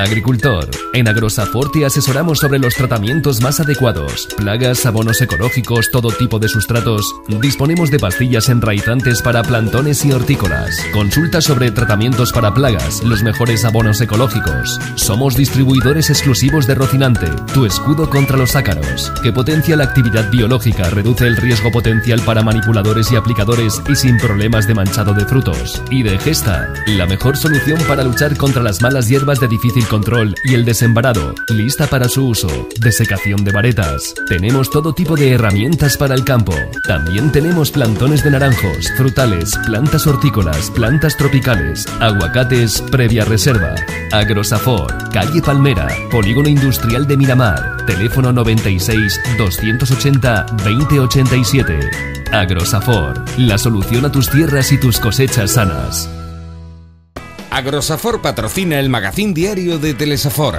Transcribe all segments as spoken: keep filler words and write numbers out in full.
Agricultor. En Agrosafor te asesoramos sobre los tratamientos más adecuados, plagas, abonos ecológicos, todo tipo de sustratos. Disponemos de pastillas enraizantes para plantones y hortícolas. Consulta sobre tratamientos para plagas, los mejores abonos ecológicos. Somos distribuidores exclusivos de Rocinante, tu escudo contra los ácaros, que potencia la actividad biológica, reduce el riesgo potencial para manipuladores y aplicadores y sin problemas de manchado de frutos. Y de Gesta, la mejor solución para luchar contra las malas hierbas de difícil control y el desembarado, lista para su uso. Desecación de varetas. Tenemos todo tipo de herramientas para el campo. También tenemos plantones de naranjos, frutales, plantas hortícolas, plantas tropicales, aguacates previa reserva. Agrosafor, calle Palmera, Polígono Industrial de Miramar. Teléfono noventa y seis, doscientos ochenta, veinte ochenta y siete. Agrosafor, la solución a tus tierras y tus cosechas sanas. Agrosafor patrocina el magazín diario de Telesafor.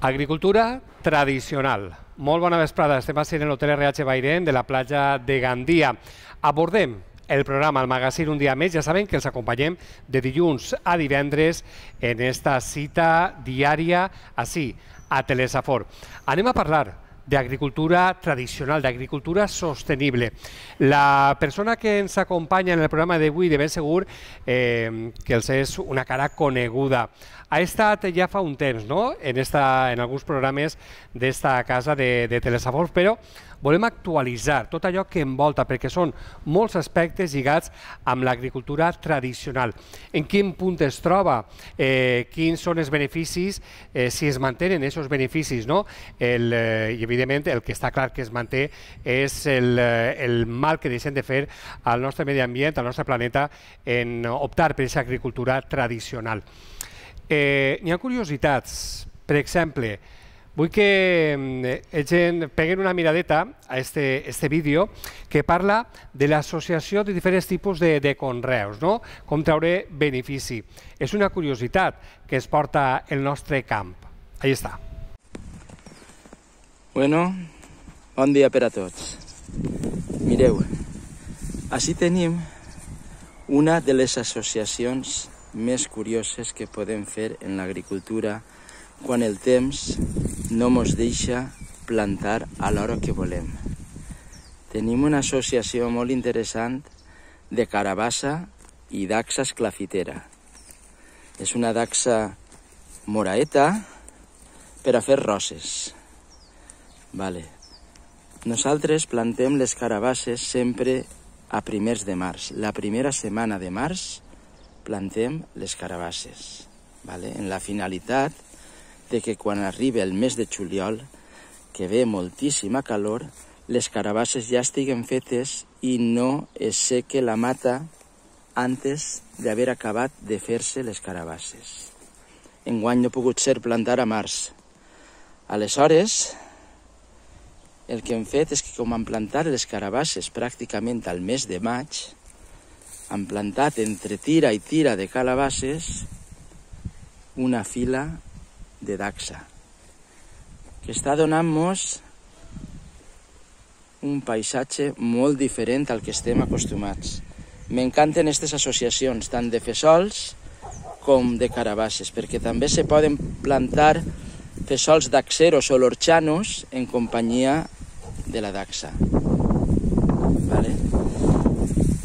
Agricultura tradicional. Molt bona vesprada, estem a en l'Hotel R H Bairén de la platja de Gandia. Abordem el programa, el magazín un dia més. Ja saben que els acompanyem de dilluns a divendres en esta cita diària, així, a Telesafor. Anem a parlar d'agricultura tradicional, d'agricultura sostenible. La persona que ens acompanya en el programa d'avui, de ben segur eh, que els és una cara coneguda. Ha estat ja fa un temps, no?, en, esta, en alguns programes d'esta casa de, de Telesafor, però volem actualitzar tot allò que envolta, perquè són molts aspectes lligats amb l'agricultura tradicional. En quin punt es troba, eh, quins són els beneficis, eh, si es mantenen aquests beneficis, no? El, eh, I, evidentment, el que està clar que es manté és el, el mal que deixem de fer al nostre medi ambient, al nostre planeta, en optar per aquesta agricultura tradicional. Eh, N'hi ha curiositats. Per exemple, vull que eh, gent peguen una miradeta a este, este vídeo que parla de l'associació de diferents tipus de, de conreus, no? Com treure benefici. És una curiositat que es porta el nostre camp. Ahí està. Bueno, bon dia per a tots. Mireu, així tenim una de les associacions més curioses que podem fer en l'agricultura quan el temps no ens deixa plantar a l'hora que volem. Tenim una associació molt interessant de carabassa i daxa esclafitera. És una daxa moraeta per a fer roses. Vale. Nosaltres plantem les carabasses sempre a primers de març. La primera setmana de març plantem les carabasses, vale? En la finalitat de que quan arribi el mes de juliol, que ve moltíssima calor, les carabasses ja estiguen fetes i no es seque la mata antes d'haver acabat de fer-se les carabasses. Enguany no ha pogut ser plantar a març. Aleshores, el que hem fet és que com han plantat les carabasses pràcticament al mes de maig, han plantat entre tira i tira de calabasses una fila de daxa, que està donant-nos un paisatge molt diferent al que estem acostumats. M'encanten aquestes associacions, tant de fesols com de carabasses, perquè també se poden plantar fesols daxeros o lorchanos en companyia de la daxa. Vale?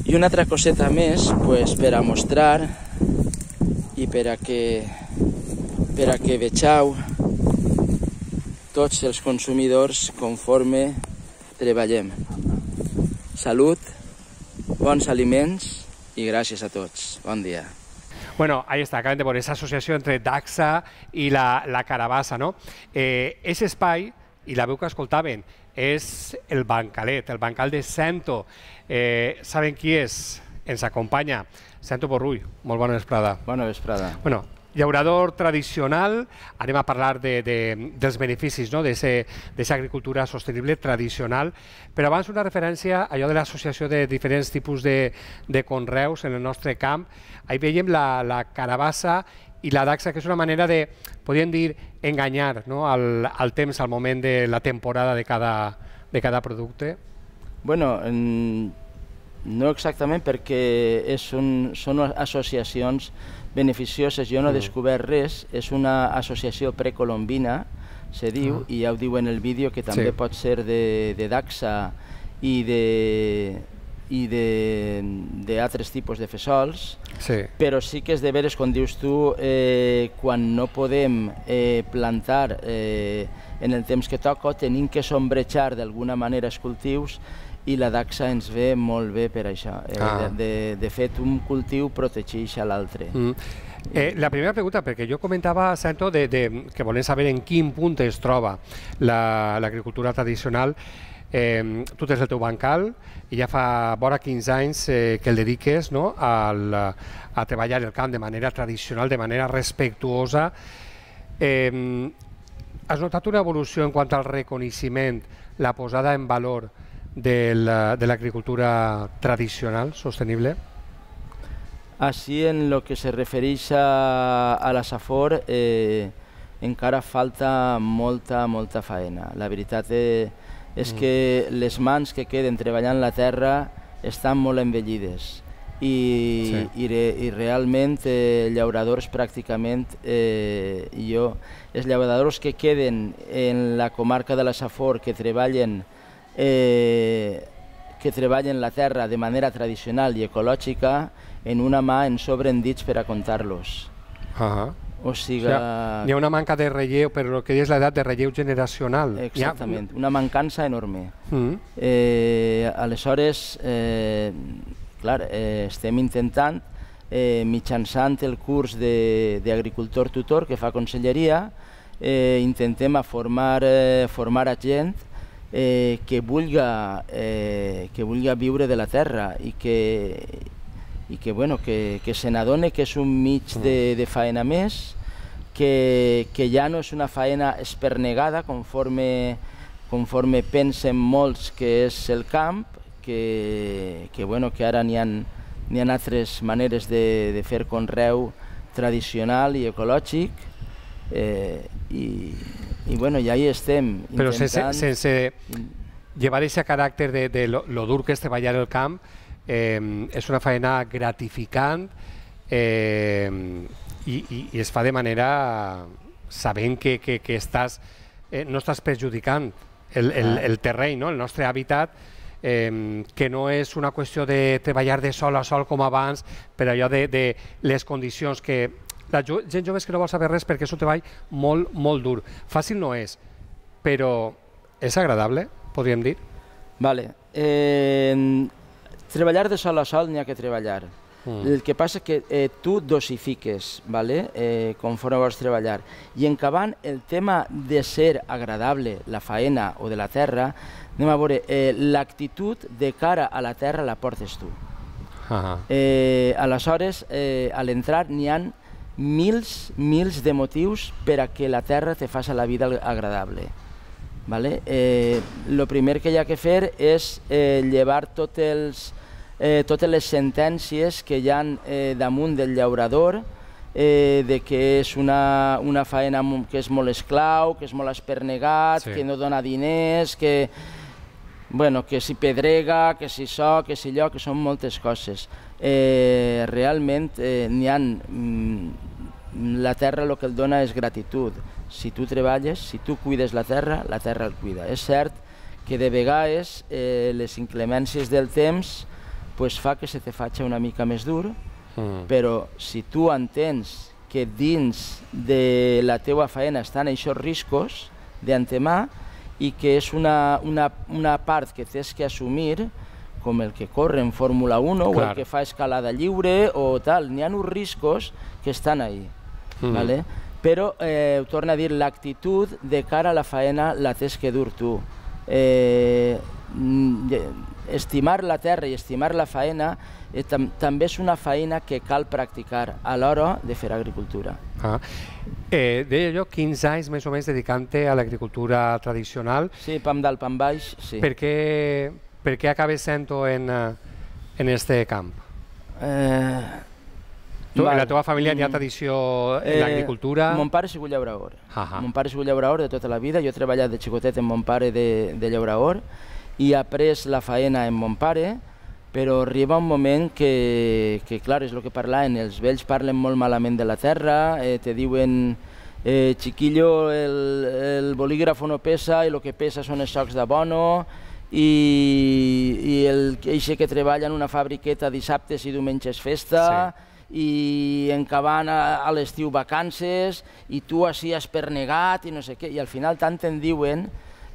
I una altra coseta més, pues, per a mostrar i per a que, per a que vegeu tots els consumidors conforme treballem. Salut, bons aliments i gràcies a tots. Bon dia. Bueno, ahí está, acaben de poner esa asociació entre daxa i la, la carabassa, no? Eh, ese espai, i la veu que escoltaven, és el bancalet, el bancal de Cento. Eh, saben qui és? Ens acompanya Cento Borrull. Molt bona vesprada. Bona vesprada. Bueno, llaurador tradicional, anem a parlar de, de, dels beneficis, no? d'aquesta agricultura sostenible tradicional, però abans una referència a allò de l'associació de diferents tipus de, de conreus en el nostre camp. Ahí veiem la, la carabassa i la dacsa, que és una manera de, podríem dir, enganyar, no? al, al temps, al moment de la temporada de cada, de cada producte. Bueno, en... no exactament, perquè és un, són associacions beneficioses. Jo no he descobert res, és una associació precolombina, se diu, ah. i ja ho diu en el vídeo, que també sí. pot ser de, de dacsa i de i d'altres tipus de fesols, sí. però sí que és de veres, com dius tu, eh, quan no podem eh, plantar eh, en el temps que toca, tenim que sombrejar d'alguna manera els cultius, i la dacsa ens ve molt bé per això. Eh, ah. de, de fet, un cultiu protegeix a l'altre. Mm. Eh, la primera pregunta, perquè jo comentava, Santo, de, de, que volem saber en quin punt es troba l'agricultura la, tradicional. Eh, tu tens el teu bancal i ja fa vora quinze anys eh, que el dediques, no? Al, a treballar el camp de manera tradicional, de manera respectuosa. Eh, has notat una evolució en quant al reconeixement, la posada en valor de l'agricultura tradicional, sostenible? Així, en el que se refereix a, a la Safor, eh, encara falta molta, molta faena. La veritat és, és mm. que les mans que queden treballant la terra estan molt envellides i, sí. i, re, i realment eh, llauradors pràcticament, eh, jo, els llauradors que queden en la comarca de la Safor, que treballen Eh, que treballen la terra de manera tradicional i ecològica, en una mà en sobren dits per a comptar-los. Uh-huh. O sigui... O sigui, hi ha una manca de relleu, però el que és l'edat de relleu generacional. Exactament, ha... una mancança enorme. Uh-huh. eh, aleshores, eh, clar, eh, estem intentant, eh, mitjançant el curs d'agricultor tutor que fa Conselleria, eh, intentem a formar, eh, formar a gent Eh, que vulga eh, que vulga viure de la terra i que, i que, bueno, que, que se n'adone que és un mig de, de faena més, que, que ja no és una faena espernegada conforme, conforme pensen molts que és el camp, que, que, bueno, que ara n'hi ha, n'hi ha altres maneres de, de fer conreu tradicional i ecològic, eh, i I bueno, ja hi estem intentant... Però sense, sense llevar aquest caràcter de, de lo, lo dur que és treballar el camp, eh, és una feina gratificant eh, i, i, i es fa de manera sabent que, que, que estàs, eh, no estàs perjudicant el, el, el terreny, no? El nostre hàbitat, eh, que no és una qüestió de treballar de sol a sol com abans, per allò de, de les condicions que... La gent jove és que no vol saber res perquè és un treball molt, molt dur. Fàcil no és, però és agradable, podríem dir? Vale. Eh, treballar de sol a sol n'hi ha que treballar. Mm. El que passa és que eh, tu dosifiques, vale? eh, conforme vols treballar. I encabant el tema de ser agradable, la faena o de la terra, anem a veure, eh, l'actitud de cara a la terra la portes tu. Uh-huh. eh, aleshores, eh, a l'entrar n'hi ha mils, mils de motius per a que la terra te faci la vida agradable. Vale? Eh, lo primer que hi ha que fer és eh, llevar tot els, eh, totes les sentències que hi ha eh, damunt del llaurador, eh, de que és una, una faena que és molt esclau, que és molt espernegat, sí. que no dona diners, que, bueno, que si pedrega, que si so, que si allò, que són moltes coses. Eh, realment eh, n'hi ha, mm, la terra el que el dona és gratitud. Si tu treballes, si tu cuides la terra, la terra el cuida. És cert que de vegades eh, les inclemències del temps pues, fa que se te faci una mica més dur, mm. però si tu entens que dins de la teua faena estan aquests riscos d'antemà i que és una, una, una part que tens que assumir, com el que corre en Fórmula uno Clar. o el que fa escalada lliure o tal, n'hi ha uns riscos que estan ahí. Mm. ¿Vale? Però, eh, ho torno a dir, l'actitud de cara a la faena la tens que dur tu. Eh, estimar la terra i estimar la faena eh, tam també és una feina que cal practicar a l'hora de fer agricultura. Ah. Eh, deia jo, quinze anys més o menys dedicant-te a l'agricultura tradicional. Sí, pam dalt, pam baix, sí. Per què, per què acabes sent-ho en, en este camp? Eh, tu, val. en la teva família hi ha tradició en Eh, l'agricultura? Mon pare ha sigut llaurador. Ahà. Mon pare ha sigut llaurador de tota la vida. Jo he treballat de xicotet amb mon pare de, de llaurador i he après la faena amb mon pare, però arriba un moment que, que clar, és el que parlaven, els vells parlen molt malament de la terra, eh, te diuen eh, chiquillo, el, el bolígrafo no pesa i el que pesa són els socs d'abono, i, i el eixe que treballa en una fabriqueta dissabtes i diumenges festa, sí. I en cabana a l'estiu vacances, i tu així has pernegat i no sé què, i al final tant en diuen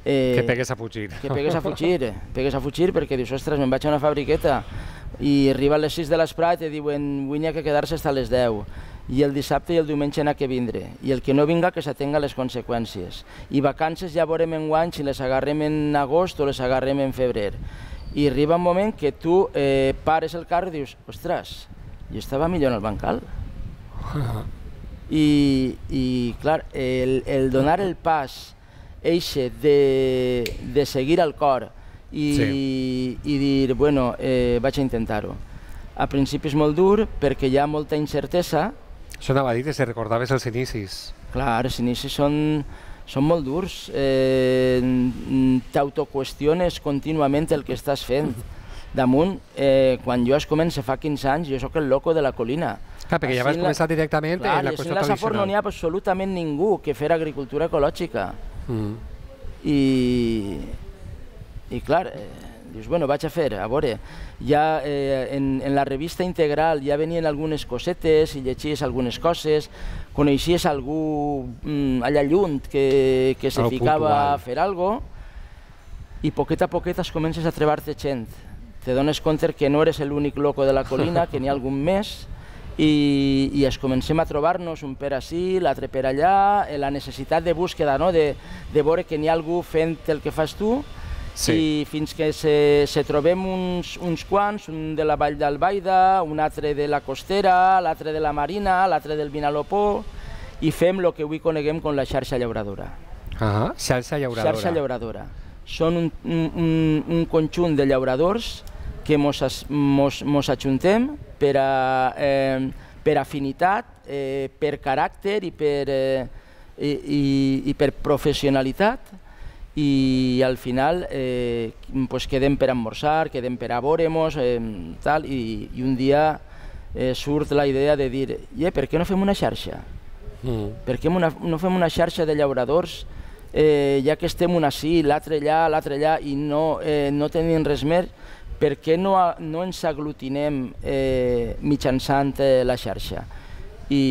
Eh, que pegues a fugir. Que pegues a fugir, eh? pegues a fugir perquè dius, ostres, me'n vaig a una fabriqueta i arriba a les sis de l'esprà i te diuen avui n'hi ha que quedar-se fins a les deu i el dissabte i el diumenge n'ha que vindre i el que no vinga que s'atenga les conseqüències i vacances ja veurem enguany si les agarrem en agost o les agarrem en febrer i arriba un moment que tu eh, pares el carro i dius, ostres, jo estava millor en el bancal. I, i clar, el, el donar el pas eixe de, de seguir al cor i, sí. i dir, bueno, eh, vaig a intentar-ho. A principi és molt dur perquè hi ha molta incertesa. Això anava a dir, si recordaves els inicis. Clar, els inicis són, són molt durs. Eh, T'autoqüestiones contínuament el que estàs fent. Damunt, eh, quan jo es comença fa quinze anys, jo sóc el loco de la colina. Clar, perquè ja vas començar directament en la qüestió tradicional. A la Safor no n'hi ha absolutament ningú que fer agricultura ecològica. Mm. I, i clar, eh, dius, bueno, vaig a fer, a veure, ja eh, en, en la revista Integral ja venien algunes cosetes i llegies algunes coses, coneixies algú mm, allà lluny que, que se ficava a fer alguna cosa i poquet a poquet es comences a trebar-te gent. Te dones compte que no eres l'únic loco de la colina, que n'hi ha algun més, i, i es comencem a trobar-nos un per ací, l'altre per allà, la necessitat de búsqueda, no? de, de veure que n'hi ha algú fent el que fas tu, sí. I fins que se, se trobem uns, uns quants, un de la Vall d'Albaida, un altre de la Costera, l'altre de la Marina, l'altre del Vinalopó, i fem el que avui coneguem com la xarxa llauradora. Ah, xarxa llauradora. Xarxa llauradora. Són un, un, un conjunt de llauradors que mos, mos, mos ajuntem per, a, eh, per afinitat, eh, per caràcter i per, eh, i, i, i per professionalitat i al final eh, pues quedem per almorzar, quedem per a veure-mos eh, tal, i, i un dia eh, surt la idea de dir eh, per què no fem una xarxa? Mm. Per què una, no fem una xarxa de llauradors eh, ja que estem un ací, l'altre allà, l'altre allà i no, eh, no tenim res més? Per què no, no ens aglutinem eh, mitjançant eh, la xarxa? I,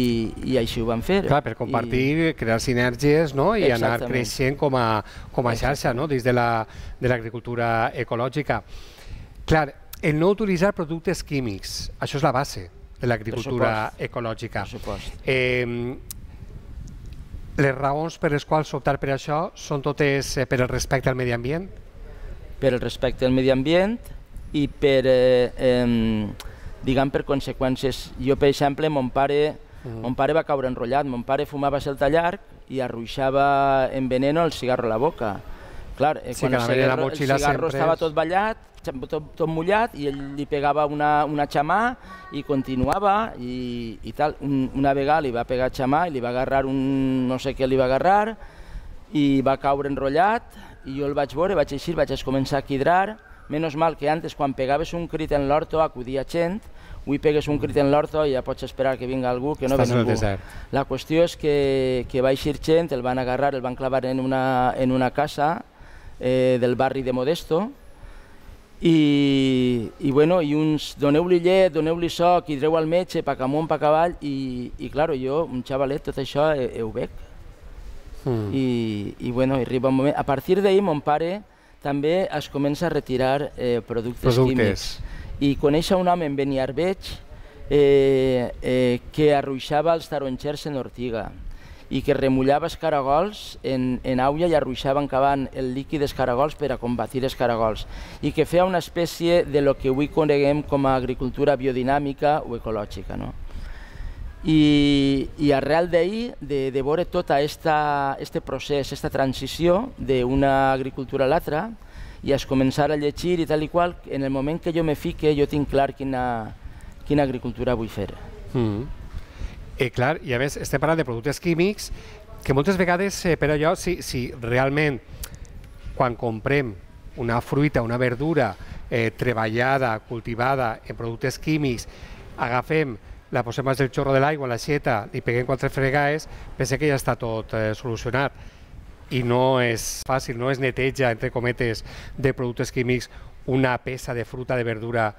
i així ho vam fer. Clar, per compartir, I... crear sinergies, no? I Exactament. Anar creixent com a, com a xarxa, no? Dins de l'agricultura ecològica. Clar, el no utilitzar productes químics, això és la base de l'agricultura ecològica. Per supost. Eh, les raons per les quals optar per això són totes eh, per el respecte al medi ambient? Per el respecte al medi ambient i per, eh, eh, diguem, per conseqüències. Jo, per exemple, mon pare, mm. mon pare va caure enrotllat. Mon pare fumava celta llarg i arruixava en veneno el cigarro a la boca. Clar, eh, sí, quan el cigarro, el cigarro estava és... tot ballat, tot, tot mullat, i ell li pegava una, una xamà i continuava i, i tal. Un, una vegada li va pegar xamà i li va agarrar un... no sé què li va agarrar i va caure enrotllat i jo el vaig veure, vaig eixir, vaig començar a quidrar. Menos mal que antes, quan pegaves un crit en l'horto, acudia gent, avui pegues un crit en l'horto i ja pots esperar que vinga algú, que no ve ningú. La qüestió és que, que va eixir gent, el van agarrar, el van clavar en una, en una casa eh, del barri de Modesto i, i, bueno, i uns doneu-li llet, doneu-li soc, i dreu al metge, pa camunt, pa cavall, i, i claro, jo, un xavalet, tot això eh, ho veig. Mm. I, i bueno, arriba un moment. A partir d'ahir, mon pare també es comença a retirar eh, productes, productes químics. I conèixer un home en Beniarbeig eh, eh, que arruixava els taronxers en ortiga i que remullava els caragols en, en aigua i arruixava encavant el líquid dels caragols per a combatir els caragols, i que feia una espècie de lo que avui coneguem com a agricultura biodinàmica o ecològica, no? I, i arrel d'ahir, de, de veure tot aquest procés, aquesta transició d'una agricultura a l'altra, i es començar a llegir i tal i qual, en el moment que jo me fique, jo tinc clar quina, quina agricultura vull fer. Mm. Eh, clar, i a més estem parlant de productes químics que moltes vegades, eh, per allò, si, si realment quan comprem una fruita, una verdura eh, treballada, cultivada en productes químics, agafem, la posem al xorro de l'aigua, la xeta, li peguem quatre fregaes, pensem que ja està tot eh, solucionat. I no és fàcil, no es neteja, entre cometes, de productes químics una peça de fruta, de verdura,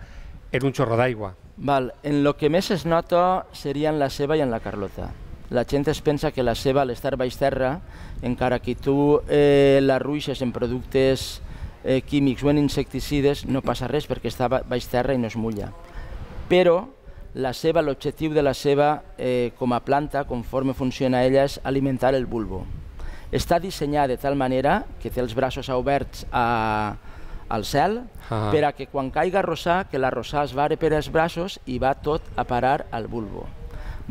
en un xorro d'aigua. En el que més es nota serien la ceba i en la carlota. La gent es pensa que la ceba, al estar baix terra, encara que tu eh, la ruixes en productes eh, químics o en insecticides, no passa res perquè està baix terra i no es mulla. Però la ceba, l'objectiu de la ceba eh, com a planta, conforme funciona ella, és alimentar el bulbo. Està dissenyada de tal manera que té els braços oberts a, al cel, ah. per a que quan caiga rossà, que la rossà es vare per als braços i va tot a parar al bulbo.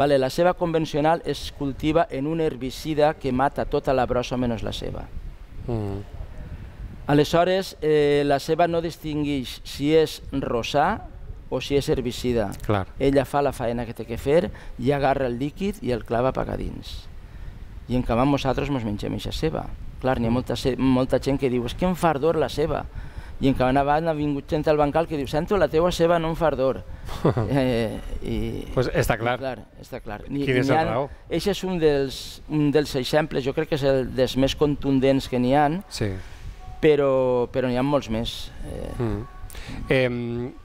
Vale, la ceba convencional es cultiva en un herbicida que mata tota la brossa menys la ceba. Mm. Aleshores, eh, la ceba no distingueix si és rossà o si és herbicida. Clar. Ella fa la faena que té que fer i agarra el líquid i el clava per a dins. I en canvi nosaltres ens mengem aquesta ceba. Clar, n'hi ha molta, molta gent que diu és que em fa ardor la ceba. I en canvi abans ha vingut gent al bancal que diu sento la teua ceba no em fa ardor. eh, i, pues està clar. clar, està clar. Ni, Quin és el raó? Aquest és un dels, un dels exemples, jo crec que és el dels més contundents que n'hi ha, sí. però, però n'hi ha molts més. Eh, mm. eh,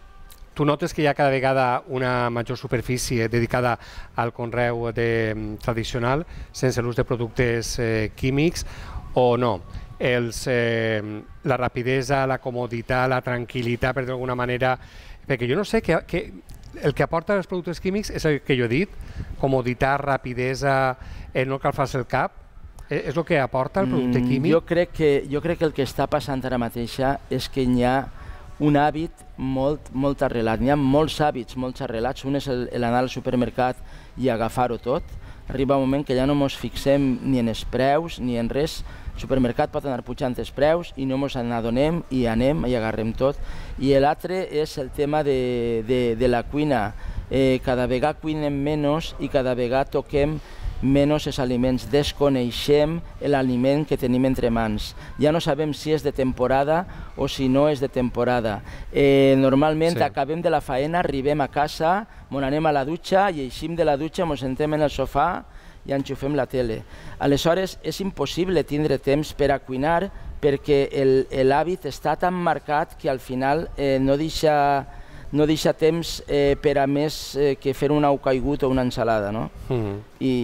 Tu notes que hi ha cada vegada una major superfície dedicada al conreu de, tradicional sense l'ús de productes eh, químics o no? Els, eh, la rapidesa, la comoditat, la tranquil·litat, per dir d'alguna manera, perquè jo no sé, que, que el que aporta els productes químics és el que jo he dit, comoditat, rapidesa, eh, no cal fer-se el cap, eh, és el que aporta el producte químic? Jo crec que, jo crec que el que està passant ara mateix és que hi ha un hàbit molt, molt arrelat. N'hi ha molts hàbits, molts arrelats. Un és l'anar al supermercat i agafar-ho tot. Arriba un moment que ja no ens fixem ni en els preus ni en res. El supermercat pot anar pujant els preus i no ens n'adonem i anem i agarrem tot. I l'altre és el tema de, de, de la cuina. Eh, cada vegada cuinem menys i cada vegada toquem menys els aliments, desconeixem l'aliment que tenim entre mans. Ja no sabem si és de temporada o si no és de temporada. Eh, normalment sí. acabem de la faena, arribem a casa, ens anem a la dutxa i eixim de la dutxa, ens sentem en el sofà i enxufem la tele. Aleshores, és impossible tindre temps per a cuinar perquè l'hàbit està tan marcat que al final eh, no deixa no deixa temps eh, per a més eh, que fer un ou caigut o una ensalada, no? Mm. I,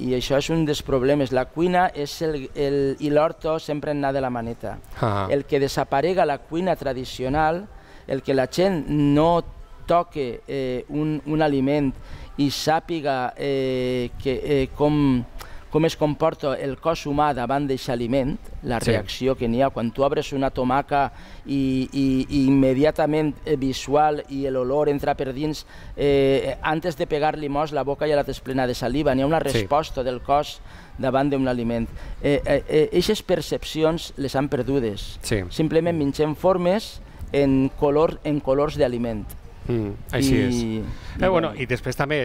I això és un dels problemes. La cuina és el, el, i l'horto sempre anar de la maneta. Ah. El que desaparega la cuina tradicional, el que la gent no toque eh, un, un aliment i sàpiga eh, que, eh, com, com es comporta el cos humà davant d'aquest aliment, la reacció sí. que n'hi ha. Quan tu obres una tomaca i, i, i immediatament eh, visual i l'olor entra per dins, eh, antes de pegar-li mos, la boca ja la tens plena de saliva. N'hi ha una resposta sí. del cos davant d'un aliment. Aquestes eh, eh, percepcions les han perdudes. Sí. Simplement mengem formes en, color, en colors d'aliment. Mm, així I, és. I, eh, bueno, I després també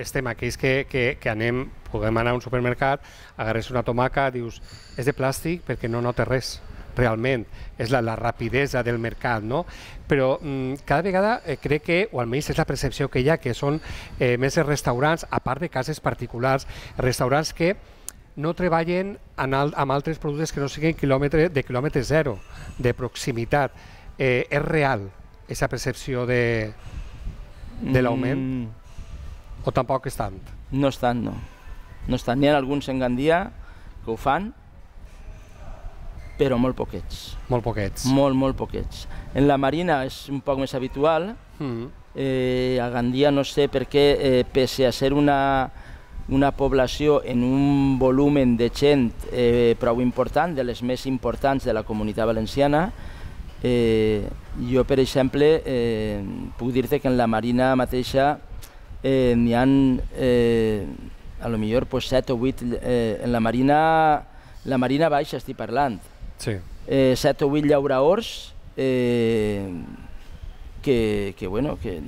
estem aquells que, que, que anem, podem anar a un supermercat, agarres una tomaca, dius, és de plàstic perquè no nota res, realment. És la, la rapidesa del mercat, no? Però mm, cada vegada eh, crec que, o almenys és la percepció que hi ha, que són eh, més els restaurants, a part de cases particulars, restaurants que no treballen en al, amb altres productes que no siguin quilòmetre, de quilòmetre zero, de proximitat. Eh, és real aquesta percepció de, de l'augment? Mm. O tampoc és tant? No és tant, no. No és tant. N'hi ha alguns en Gandia que ho fan, però molt poquets. Molt poquets. Molt, molt poquets. En la Marina és un poc més habitual. Mm. Eh, a Gandia no sé per què, eh, pese a ser una, una població en un volum de gent eh, prou important, de les més importants de la Comunitat Valenciana. Eh, jo, per exemple, eh, puc dir-te que en la Marina mateixa eh, n'hi ha eh, a lo millor pues, set o vuit, eh, en la Marina, la Marina Baixa estic parlant, sí. eh, set o vuit llauraors eh, que, que, bueno, que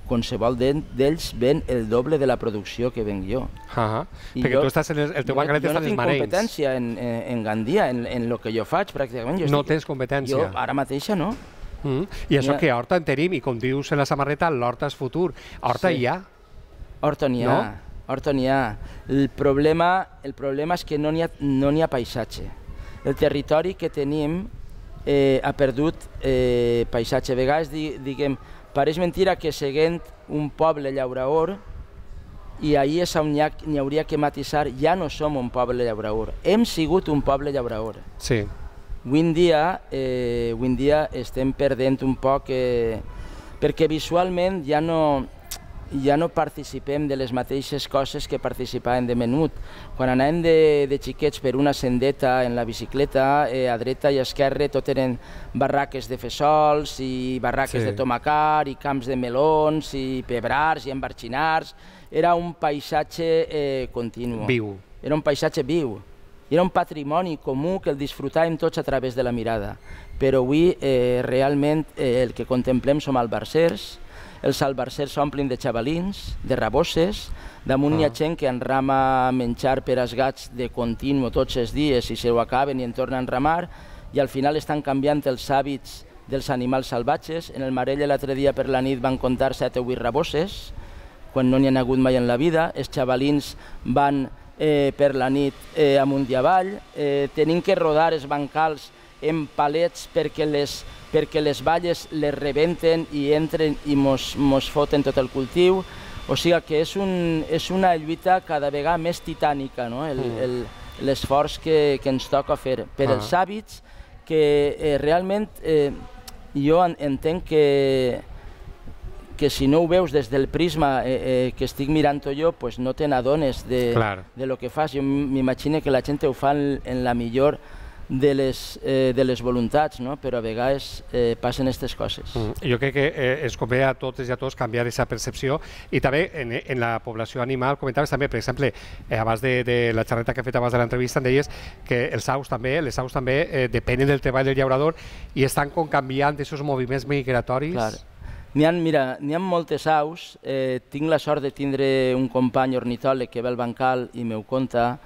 qualsevol d'ells ven el doble de la producció que venc jo. Uh -huh. Perquè jo, tu estàs en el, el teu bancalet està en els Marenys. Jo no tinc competència en, en, en Gandia, en, en el que jo faig, pràcticament. Jo no estic, tens competència? Jo ara mateixa no. Mm. I això ha... que horta en tenim, i com dius en la samarreta, l'horta és futur. Horta sí. hi ha? Horta n'hi ha. No? Horta n'hi ha. El problema, el problema és que no n'hi ha, no n'hi ha paisatge. El territori que tenim eh, ha perdut eh, paisatge. A vegades, diguem, pareix mentira que seguint un poble llauraor, i ahir és on n'hi hauria que matisar, ja no som un poble llauraor. Hem sigut un poble llauraor. Sí. Avui en dia, eh, avui en dia estem perdent un poc, eh, perquè visualment ja no, ja no participem de les mateixes coses que participàvem de menut. Quan anàvem de, de xiquets per una sendeta en la bicicleta, eh, a dreta i a esquerra tot eren barraques de fesols i barraques sí. de tomacar i camps de melons i pebrars i embarxinars. Era un paisatge eh, continu. Viu. Era un paisatge viu. Era un patrimoni comú que el disfrutàvem tots a través de la mirada. Però avui eh, realment eh, el que contemplem som albarsers. Els albarsers s'omplen de xavalins, de rabosses, damunt n'hi ha gent que enrama menjar per als gats de continu tots els dies i se ho acaben i en tornen a enramar, i al final estan canviant els hàbits dels animals salvatges. En el Marell l'altre dia per la nit van comptar set o vuit rabosses, quan no n'hi ha hagut mai en la vida. Els xavalins van eh, per la nit eh, amunt i avall, eh, tenim que rodar els bancals en palets perquè les perquè les valles les rebenten i entren i mos, mos foten tot el cultiu. O sigui que és, un, és una lluita cada vegada més titànica, no? L'esforç que, que ens toca fer per ah. els hàbits que eh, realment eh, jo entenc que, que si no ho veus des del prisma eh, eh, que estic mirant-ho jo, pues no te n'adones de, de lo que fas. Jo m'imagino que la gent ho fa en, en la millor de les, eh, de les voluntats, no? Però a vegades eh, passen aquestes coses. Mm. Jo crec que eh, es convé a totes i a tots canviar aquesta percepció, i també en, en la població animal. Comentaves també, per exemple, eh, abans de, de la xerreta que he fet abans de l'entrevista, em deies que els aus també, les aus també eh, depenen del treball del llaurador i estan com canviant aquests moviments migratoris. Clar. N'hi ha, mira, n'hi ha moltes aus. Eh, tinc la sort de tindre un company ornitòleg que ve al bancal i m'ho conta,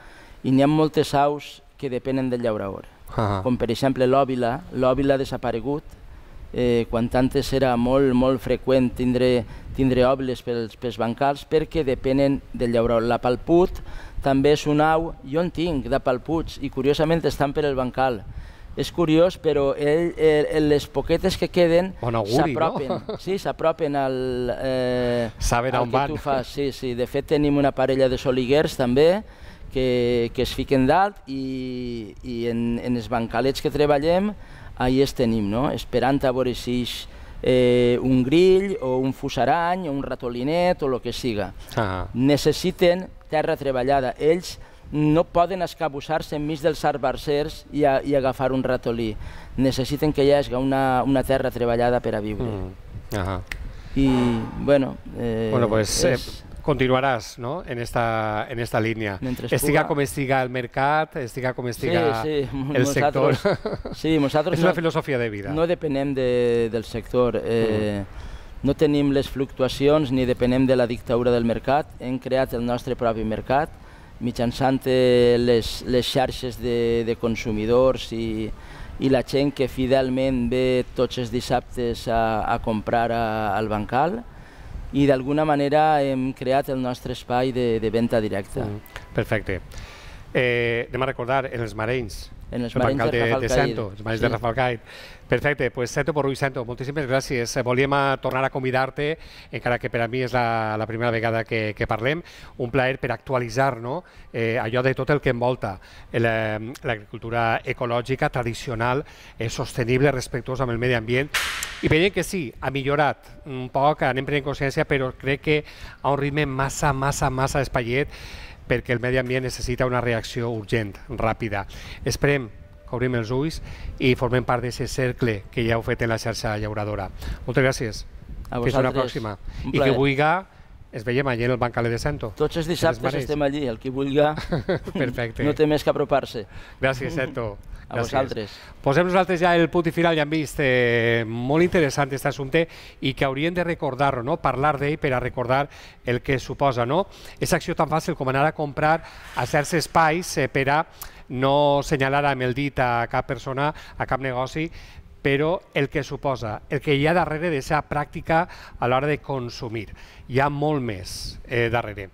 i n'hi ha moltes aus que depenen del llaurador. Uh-huh. Com per exemple l'òbila. L'òbila ha desaparegut. Eh, quan antes era molt, molt freqüent tindre, tindre òbiles pels, pels bancals perquè depenen del llaurador. La palput també és un au, jo en tinc de palputs i curiosament estan per el bancal. És curiós, però ell, eh, les poquetes que queden s'apropen. No? Sí, s'apropen al, eh, Saben al on que van. tu fas. Sí, sí. De fet, tenim una parella de soliguers també que, que es fiquen dalt i, i en, en els bancalets que treballem ahí els tenim, no? Esperant a veure si és eh, un grill o un fusarany o un ratolinet o el que siga. Ah. Necessiten terra treballada. Ells no poden escabussar-se enmig dels arbarsers i, a, i agafar un ratolí. Necessiten que hi hagi una, una terra treballada per a viure. Mm. Ah. I, bueno... Eh, bueno, pues... És... Eh... Continuaràs, no?, en esta, en esta línia. Estiga com estiga el mercat, estiga com estiga sí, sí. el sector. Sí, nosaltres és una no, filosofia de vida. No depenem de, del sector. Eh, mm. No tenim les fluctuacions ni depenem de la dictadura del mercat. Hem creat el nostre propi mercat mitjançant les, les xarxes de, de consumidors i, i la gent que fidelment ve tots els dissabtes a, a comprar a, al bancal. I d'alguna manera hem creat el nostre espai de, de venda directa. Mm, perfecte. Eh, anem a recordar, en els Marenys, en els el marins bancal de, de, Rafael de Sento, els marins sí. de Rafael Perfecte, doncs pues, Sento Porrull, Sento, moltíssimes gràcies. Volíem tornar a convidar-te, encara que per a mi és la, la primera vegada que, que parlem, un plaer per actualitzar no? eh, allò de tot el que envolta l'agricultura ecològica, tradicional, eh, sostenible, respectuosa amb el medi ambient, i veiem que sí, ha millorat un poc, anem prenent consciència, però crec que a un ritme massa, massa, massa espaiet, perquè el medi ambient necessita una reacció urgent, ràpida. Esperem que obrim els ulls i formem part d'aquest cercle que ja heu fet en la xarxa llauradora. Moltes gràcies. A Fins una pròxima. I que vulgui, es veiem allà en el bancaler de Sento. Tots els dissabtes estem allí, el que vulgui no té més que apropar-se. Gràcies, Sento. A vosaltres. Posem nosaltres ja el punt i final, ja hem vist eh, molt interessant aquest assumpte i que hauríem de recordar-ho, no? Parlar d'ell per a recordar el que suposa, no? És acció tan fàcil com anar a comprar a certs espais eh, per a no assenyalar amb el dit a cap persona, a cap negoci, però el que suposa, el que hi ha darrere d'aquesta pràctica a l'hora de consumir. Hi ha molt més eh, darrere.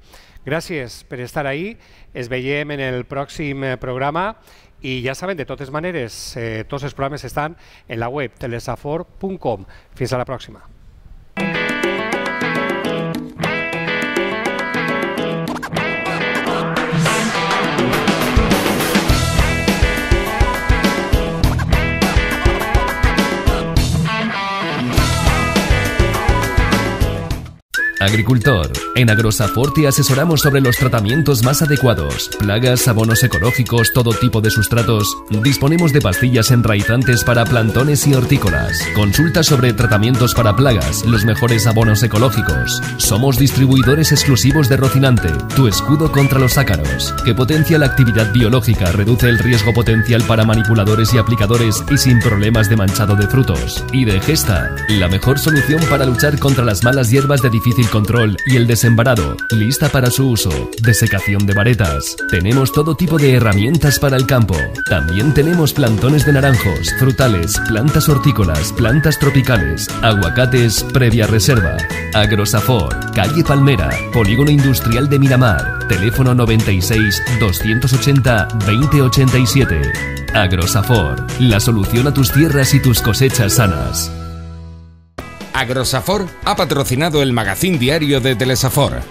Gràcies per estar ahí, es veiem en el pròxim programa i ja saben, de totes maneres, eh, tots els programes estan en la web telesafor punt com. Fins a la pròxima. Agricultor, en Agrosafor te asesoramos sobre los tratamientos más adecuados, plagas, abonos ecológicos, todo tipo de sustratos. Disponemos de pastillas enraizantes para plantones y hortícolas. Consulta sobre tratamientos para plagas, los mejores abonos ecológicos. Somos distribuidores exclusivos de Rocinante, tu escudo contra los ácaros, que potencia la actividad biológica, reduce el riesgo potencial para manipuladores y aplicadores y sin problemas de manchado de frutos. Y de Gesta, la mejor solución para luchar contra las malas hierbas de difícil control y el desembarado, lista para su uso, desecación de varetas. Tenemos todo tipo de herramientas para el campo. También tenemos plantones de naranjos, frutales, plantas hortícolas, plantas tropicales, aguacates previa reserva. Agrosafor, calle Palmera, Polígono Industrial de Miramar, teléfono noventa y seis, doscientos ochenta, veinte ochenta y siete. Agrosafor, la solución a tus tierras y tus cosechas sanas. Agrosafor ha patrocinado el magazín diario de Telesafor.